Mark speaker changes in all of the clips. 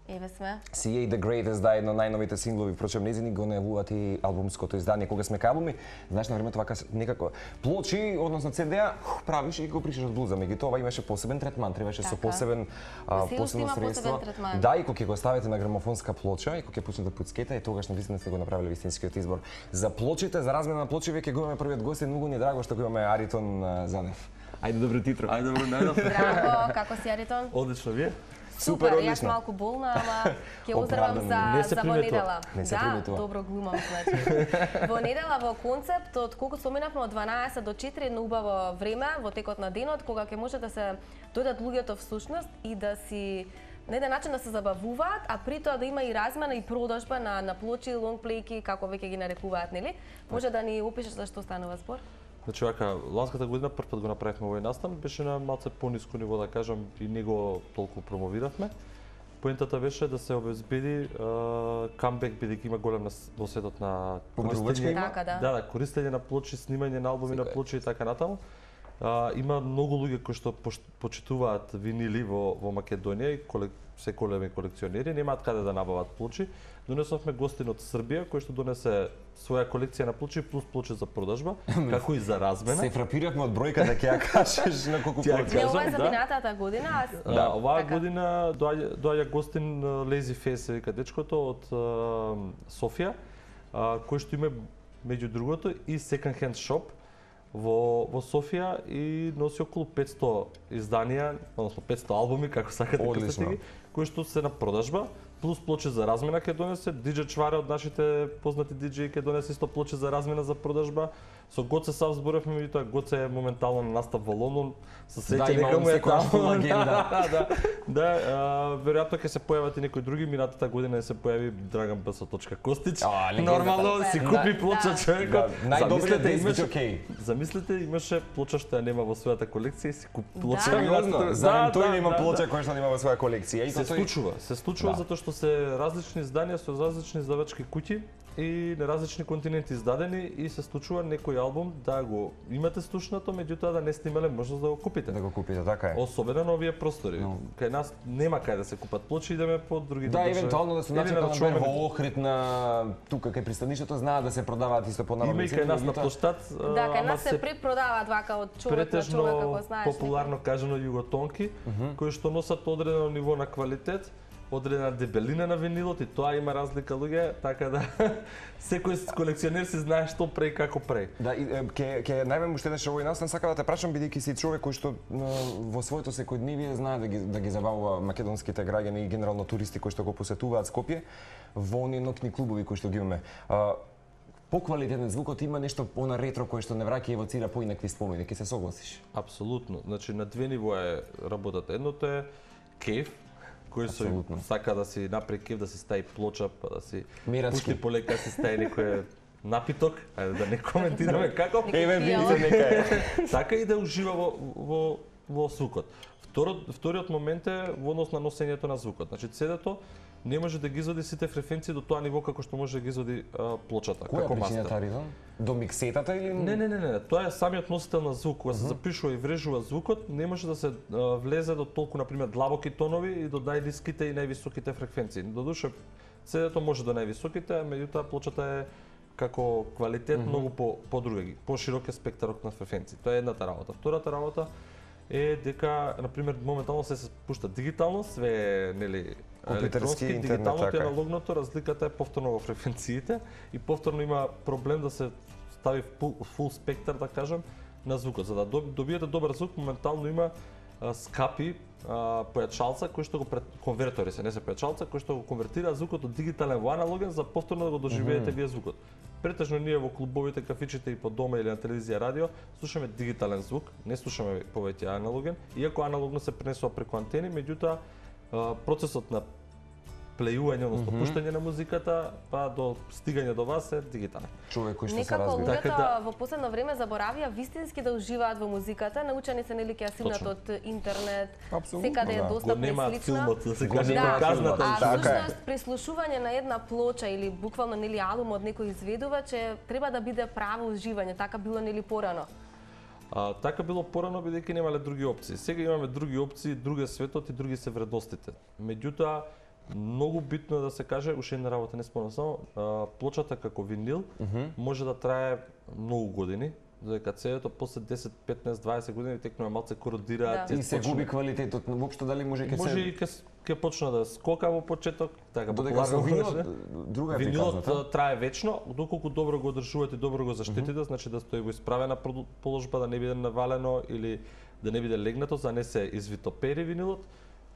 Speaker 1: Еве сме.
Speaker 2: CA The Greatest, да, едно најновите синглови, впрочем, незини го најавуваат и албумското издание. Кога сме кај албуми, знаеш, на времето вака некако плочи, односно CD-а, правиш и го пришиш од блуза. Меѓутоа имаше посебен третман, требаше со посебен посебно средство. Да, и кога ќе го ставите на грамофонска плоча и кога ќе почне да пуцкета, и тогаш навистина сте го направиле вистинскиот избор. За плочите, за размена на плочи, веќе го имаме првиот гост и многу ни е драго што го имаме Аритон Занев. Ајде, добро титро.
Speaker 3: Ајде, добро најдов.
Speaker 1: Драго, како си, Аритон?
Speaker 3: Одлично, вие?
Speaker 1: Супер, јас малку болна, ама ќе уздравам за во недела. Да, добро глумам, значи. Во недела во концепт, од колку споменавме од 12 до 4, на убаво време во текот на денот, кога ќе може да се дојдат луѓето всушност и да си на еден начин да се забавуваат, а при тоа да има и размена и продажба на плочи, лонгплейки, како веќе ги нарекуваат, нели? Може да ни опишеш за што станува збор?
Speaker 3: Значи, вака, ланската година прв пат го направивме овој настан, беше на малце пониско ниво, да кажам, и не го толку промовиравме. Поентата беше да се обезбеди камбек, бидејќи има голем во светот на
Speaker 2: користење.
Speaker 3: Да, користење на плочи, снимање на албуми на плочи и така натаму. Има многу луѓе кои што почитуваат винили во Македонија и се големи колекционери, немаат каде да набават плочи. Донесовме гостин од Србија кој што донесе своја колекција на плочи плюс плочи за продажба, како и за размена.
Speaker 2: Се фрапиравме од бројката, ќе ја кажеш на колку плочи.
Speaker 1: Не, ова е за минатата година.
Speaker 3: Да, оваа година доаѓа гостин Lazy Face, вика дечкото од Софија, кој што има меѓу другото и second hand shop во Софија и носи околу 500 изданија, односно 500 албуми, како сакате крстите ги, кои што се на продажба, плюс плочи за размена ќе донесе, DJ Чваре од нашите познати диџеи ќе донесе исто плочи за размена за продажба. Со Гоце сав зборевме, меѓутоа Гоце е моментално на настап во Лондон, со сеќа дека му е таму. Да, веројатно ќе се појават и некои други, минатата година се појави Драган Б.Костич. Нормално си купи плоча човекот. Замислете, имаше плоча што ја нема во својата колекција и си купи плоча.
Speaker 2: Знаем тој има плоча која што нема во своја колекција.
Speaker 3: Се случува затоа што се различни изданија со различни издавачки куќи и на различни континенти издадени и се случува некој албум да го имате слушнато, меѓутоа да не сте имале можност да го купите.
Speaker 2: Да го купите, така е.
Speaker 3: Особено на овие простори. Кај нас нема кај да се купат плочи, идеме по други
Speaker 2: држави. Да, евентуално да се најдат на во Охрид на тука кај пристанишето, знаат да се продаваат исто по нормални
Speaker 3: цени. Има и кај нас на плоштад.
Speaker 1: Да, кај нас се препродаваат вака од човек на човек, како знаеш.
Speaker 3: Популарно кажано југотонки, кои што носат одредено ниво на квалитет, одредена дебелина на винилот и тоа има разлика луѓе, така да секој колекционер си знае што прави како прави.
Speaker 2: Да, и ќе најавам уште еднаш овој настан, сакам да те прашам бидејќи си човек кој што во своето секојдневие знае да ги забавува македонските граѓани и генерално туристи кои што го посетуваат Скопје во оние ноќни клубови кои што ги имаме. Поквалитетен звукот има нешто она ретро кое што не враќа и евоцира поинакви спомени, ќе се согласиш?
Speaker 3: Апсолутно. Значи на две нивоа е работата. Едното е кеф, кој сака да си направи кеф, да си стави плоча, па да си пушти полека, си стави некој напиток, ајде да не коментираме како.
Speaker 2: Еве видите нека.
Speaker 3: Така и да ужива во звукот. Вториот момент е во однос на носењето на звукот. Значи CD-то не може да ги извади сите фреквенции до тоа ниво како што може да ги извади плочата, како мастер.
Speaker 2: Која причината, до миксетата или
Speaker 3: Не, тоа е самиот носител на звук, кога се запишува и врежува звукот, не може да се влезе до толку на пример длабоки тонови и до најниските и највисоките фреквенции. Додуше CD-то може до највисоките, меѓутоа плочата е како квалитет многу подруги, поширок е спектарот на фреквенции. Тоа е едната работа. Втората работа е дека на пример моментално се пушта дигитално, све нели електронски, дигиталното и аналогното, разликата е повторно во фреквенциите и повторно има проблем да се стави фул спектар, да кажам, на звукот. За да добиете добар звук, моментално има скапи појачалца кои што го конвертори се, не се појачалца, кои што го конвертира звукот од дигитален во аналоген за повторно да го доживеете вие звукот. Претежно ние во клубовите, кафичите и по дома или на телевизија, радио слушаме дигитален звук, не слушаме повеќе аналоген, иако аналогно се пренесува преку антени, меѓутоа процесот на плејување, односно пуштање на музиката, па до стигање до вас е дигитален.
Speaker 2: Човек кој што се
Speaker 1: разби.
Speaker 2: разбира.
Speaker 1: Некако луѓето во последно време заборавија вистински да уживаат во музиката, научени се нели ќе симнат од интернет, секаде е достапна и слична.
Speaker 3: Филмот, да се каже казната.
Speaker 1: А всушност преслушување на една плоча или буквално нели албум од некој изведувач треба да биде право уживање, така било нели порано.
Speaker 3: Така било порано бидејќи немале други опции. Сега имаме други опции, друг е светот и други се вредностите. Меѓутоа Многу битно е да се каже, уште една работа не спомнам само, плочата како винил може да трае многу години, додека CD-то после 10, 15, 20 години текнува малце кородира,
Speaker 2: и се губи квалитетот. Воопшто дали може
Speaker 3: и ќе почна да скока во почеток, така
Speaker 2: популарно винилот, друга е приказната.
Speaker 3: Винилот трае вечно, доколку добро го одржувате, добро го заштитите, значи да стои во исправена положба, да не биде навалено или да не биде легнато, за не се извитопери винилот.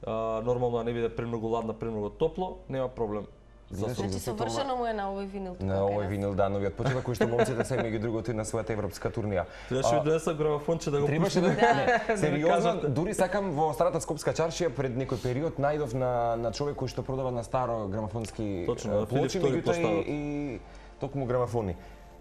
Speaker 3: Нормално да не биде премногу ладно, премногу топло, нема проблем.
Speaker 1: Значи совршено му е на овој винил.
Speaker 2: На овој винил, да, новиот почеток кој што момците се меѓу другото и на својата европска турнија.
Speaker 3: Требаше да донесам грамофонче да го
Speaker 2: пуштам. Сериозно, дури сакам во старата Скопска чаршија пред некој период најдов на човек кој што продава на старо грамофонски плочи, меѓутоа и токму грамофони.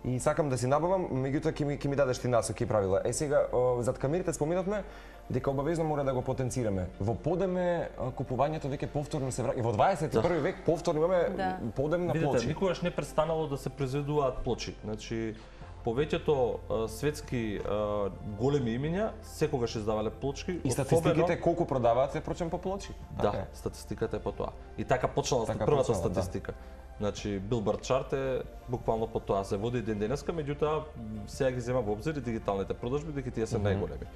Speaker 2: И сакам да си набавам, меѓутоа ќе ми дадеш ти насоки и правила. Сега зад камерите споминавме дека обавезно мора да го потенцираме. Во подеме купувањето веќе повторно се враќа. Во 21 век повторно имаме подем на плочи.
Speaker 3: Видите, никогаш не престанало да се произведуваат плочи. Значи повеќето светски големи имиња секогаш издавале плочки.
Speaker 2: И статистиките колку продаваат се прочем по плочи.
Speaker 3: Да, статистиката е по тоа. И така почнала првата статистика. Значи Билборд чарт е буквално по тоа се води ден денеска, меѓутоа сега ги зема во обзир и дигиталните продажби дека тие се најголеми.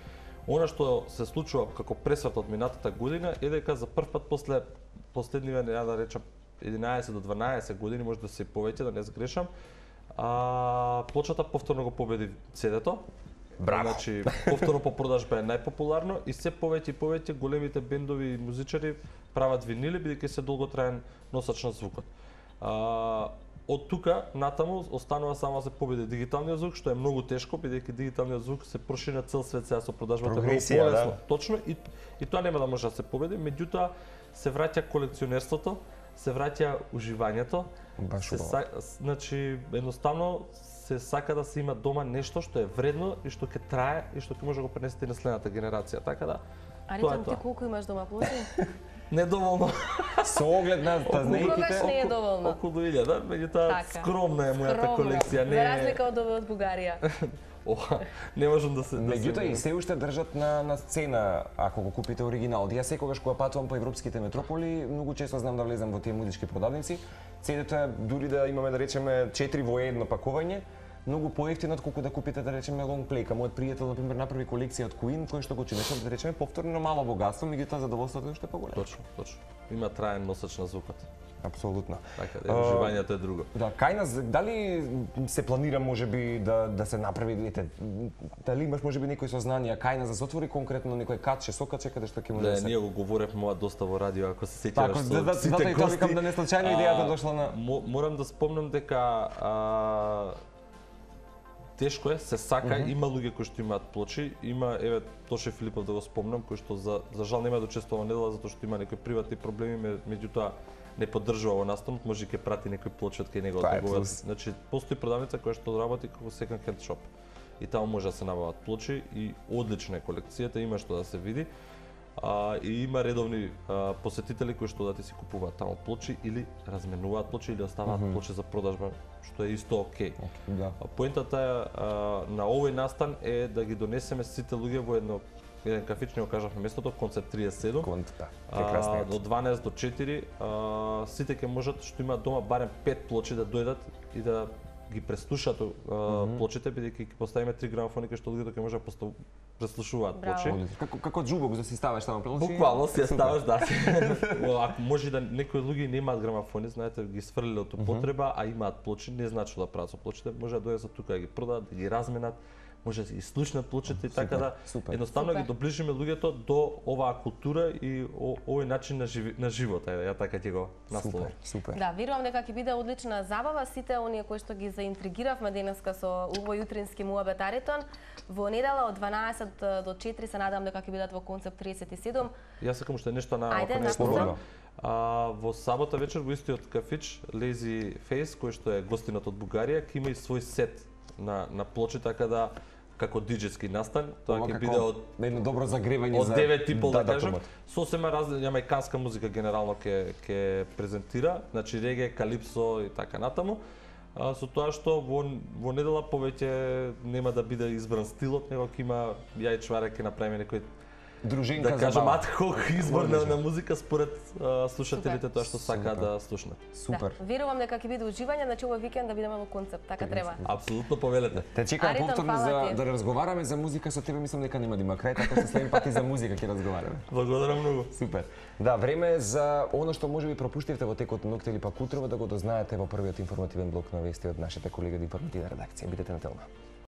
Speaker 3: Она што се случува како пресврт од минатата година е дека за прв пат после последниве, ја да речам 11 до 12 години, може да се повеќе, да не сгрешам, плочата повторно го победи CD-то.
Speaker 2: Браво.
Speaker 3: Значи повторно по продажба е најпопуларно и се повеќе и повеќе големите бендови и музичари прават винили бидејќи се долготраен носач на звукот. Од тука натаму останува само да се победи дигиталниот звук, што е многу тешко бидејќи дигиталниот звук се прошири на цел свет сега со продажбата многу полесно. Точно и тоа нема да може да се победи, меѓутоа се враќа колекционерството, се враќа уживањето. Значи едноставно се сака да се има дома нешто што е вредно и што ќе трае и што ќе може да го пренесете на следната генерација. Така да.
Speaker 1: Аритон, ти колку имаш дома плочи?
Speaker 3: Недоволно.
Speaker 2: Со оглед на
Speaker 1: тазнејките не е доволно.
Speaker 3: Околу 1000, меѓутоа скромна е мојата колекција,
Speaker 1: не. За разлика од овој од Бугарија.
Speaker 3: Не можам да се
Speaker 2: меѓутоа и се уште држат на сцена ако го купите оригинал. Ја секогаш кога патувам по европските метрополи, многу често знам да влезам во тие музички продавници. CD-то е дури да имаме да речеме 4 во едно пакување, многу поевтино отколку да купите да речеме лонгплейка. Мојот пријател на пример направи колекција од Queen, кој што го чинеше да речеме повторно мало богатство, меѓутоа задоволството е уште поголемо.
Speaker 3: Точно. Има траен носач на звукот.
Speaker 2: Апсолутно.
Speaker 3: Така, уживањето е друго.
Speaker 2: Да, кај нас дали се планира можеби да се направи, дали имаш можеби некои сознанија кај нас да се отвори конкретно некој катче, сокаче каде што ќе може да се.
Speaker 3: Ние го говоревме доста во радио, ако се сеќаваш со
Speaker 2: сите гости. Така, да не случајно идејата дошла на.
Speaker 3: Морам да спомнам дека тешко е, се сака, има луѓе кои што имаат плочи, има еве Тоше Филипов да го спомнам, кој што за жал нема да учествува недела затоа што има некои приватни проблеми, меѓутоа не поддржува во настанот, може ќе прати некој плочи од кај него да го. Значи постои продавница која што работи како second hand shop. И таму може да се набават плочи и одлична е колекцијата, има што да се види. И има редовни посетители кои што да ти си купуваат таму плочи или разменуваат плочи или оставаат плочи за продажба, што е исто окей.
Speaker 2: Да.
Speaker 3: Поентата на овој настан е да ги донесеме сите луѓе во еден кафич, не го кажавме местото, концепт 37. Од 12 до 4 сите ќе можат што имаат дома барем 5 плочи да дојдат и да ги преслушаат плочите, бидејќи ќе поставиме 3 грамофони кај што луѓето ќе може да преслушуваат плочи.
Speaker 2: Како џубок за си ставаш таму плочи?
Speaker 3: Буквално си ја ставаш, да. Ако може да некои луѓе немаат грамофони, знаете, ги сфрлиле од употреба, а имаат плочи, не значи да прават со плочите, може да дојдат тука да ги продадат, да ги разменат, може да ги слушнат плочите и така да едноставно ги доближиме луѓето до оваа култура и овој начин на живот, ја така ќе го насловам.
Speaker 2: Супер.
Speaker 1: Да, верувам дека ќе биде одлична забава сите оние кои што ги заинтригиравме денеска со овој утрински муабет Аритон. Во недела од 12 до 4 се надам дека ќе бидат во концепт 37.
Speaker 3: Јас сакам уште нешто на во сабота вечер во истиот кафич Lazy Face, кој што е гостинот од Бугарија, ќе има и свој сет на плочи, така да како диџејски настан, тоа ќе биде од
Speaker 2: едно добро загревање
Speaker 3: за 9:30 да кажам. Сосема јамајканска музика генерално ќе презентира, значи реге, калипсо и така натаму. Со тоа што во недела повеќе нема да биде избран стилот, него ќе има ја и чваре ќе направиме некои
Speaker 2: дружинка
Speaker 3: да
Speaker 2: за
Speaker 3: кажам
Speaker 2: баба.
Speaker 3: адхок избор на музика според слушателите тоа што сака да слушнат.
Speaker 2: Супер.
Speaker 1: Да, верувам дека ќе биде уживање, значи овој викенд да бидеме во концепт, така треба.
Speaker 3: Апсолутно повелете.
Speaker 2: Те чекам
Speaker 1: Аритон,
Speaker 2: повторно
Speaker 1: фала
Speaker 2: за
Speaker 1: ти.
Speaker 2: да разговараме за музика со тебе, мислам дека нема да има крај, така што следен пат и за музика ќе разговараме.
Speaker 3: Благодарам многу.
Speaker 2: Супер. Да, време е за оно што можеби пропуштивте во текот на ноќта или пак утрово да го дознаете во првиот информативен блок на вести од нашите колеги од информативна редакција. Бидете на телма.